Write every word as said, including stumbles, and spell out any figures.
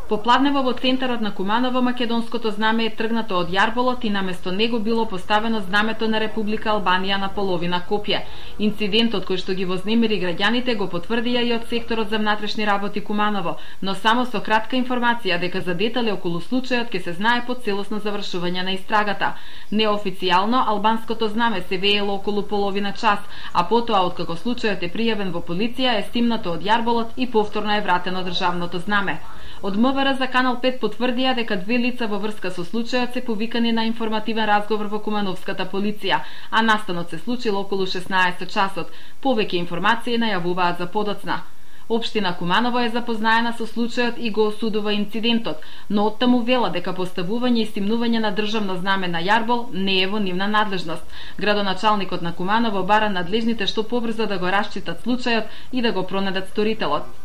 Попладнево во центарот на Куманово македонското знаме е тргнато од јарболот и наместо него било поставено знамето на Република Албанија на половина копје. Инцидентот кој што ги вознемири граѓаните го потврдија и од секторот за внатрешни работи Куманово, но само со кратка информација дека за детали околу случајот ќе се знае по целосно завршување на истрагата. Неофицијално албанското знаме се веело околу половина час, а потоа откако случајот е пријавен во полиција е стимнато од јарболот и повторно е вратено државното знаме. Од МВР за Канал пет потврдија дека две лица во врска со случајот се повикани на информативен разговор во Кумановската полиција, а настанот се случил околу шеснаесет часот. Повеќе информации најавуваат за подоцна. Општина Куманово е запознаена со случајот и го осудува инцидентот, но оттаму вела дека поставување и стимнување на државно знаме на јарбол не е во нивна надлежност. Градоначалникот на Куманово бара надлежните што побрзо да го расчитат случајот и да го пронајдат сторителот.